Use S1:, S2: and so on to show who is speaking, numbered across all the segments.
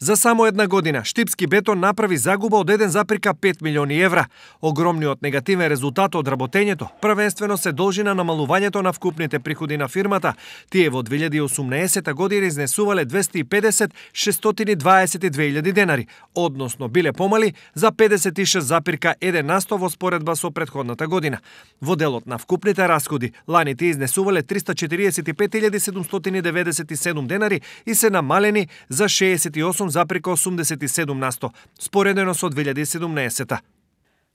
S1: За само една година, Штипски бетон направи загуба од 1,5 милиони евра. Огромниот негативен резултат од работењето првенствено се должи на намалувањето на вкупните приходи на фирмата. Тие во 2018 година изнесувале 250.622.000 денари, односно биле помали за 56,1% во споредба со претходната година. Во делот на вкупните расходи, лани тие изнесувале 345.797 денари и се намалени за 68,87%, споредено со 2017.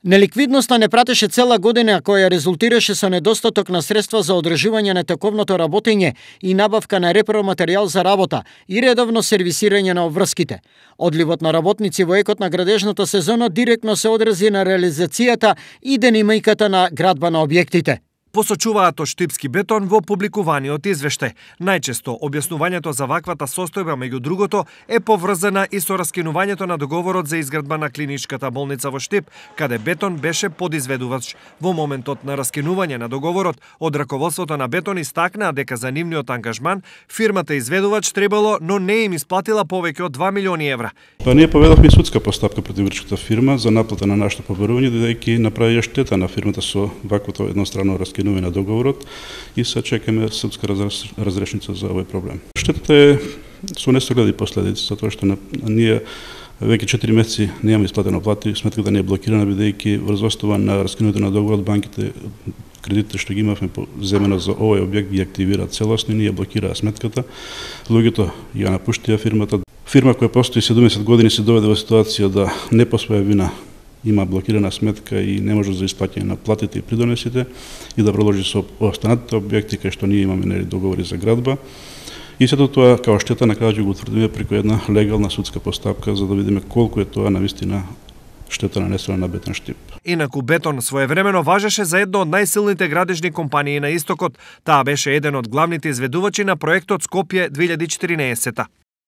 S2: Неликвидноста не пратеше цела година, која резултираше со недостаток на средства за одржување на тековното работење и набавка на репроматеријал за работа и редовно сервисирање на обврските. Одливот на работници во екот на градежната сезона директно се одрази на реализацијата и динамиката на градба на објектите.
S1: Посочуваат од Штипски бетон во публикуваниот извештај. Најчесто објаснувањето за ваквата состојба меѓу другото е поврзана и со раскинувањето на договорот за изградба на клиничката болница во Штип, каде бетон беше подизведувач. Во моментот на раскинување на договорот, од раководството на бетон истакнаа дека за нивниот ангажман фирмата изведувач требало, но не им исплатила повеќе од 2 милиони евра.
S3: Ние поведовме судска постапка против грчката фирма за наплата на нашето побарување, додејќи направија штета на фирмата со ваквото едностранно раскинување на договорот и се чекаме судска разрешница за овој проблем. Штетата е со несогледи последици, затоа што ние веќе 4 месеци немаме исплатено плати, сметката не е блокирана бидејќи врз основа на раскинувањето на договорот банките кредитите што ги имавме земено за овој објект ги активираат целосно и ние блокираа сметката. Луѓето ја напуштија фирмата. Фирма која постои 70 години се доведе во ситуација да не по своја вина има блокирана сметка и не може за исплаќање на платите и придонесите и да продолжи со останатите објекти кај што ние имаме договори за градба. И сето тоа као штета на крајот го утврдиме преку една легална судска постапка за да видиме колку е тоа навистина штета нанесена на Бетон Штип.
S1: Инаку Бетон своевремено важеше за едно од најсилните градежни компании на Истокот. Таа беше еден од главните изведувачи на проектот Скопје 2014.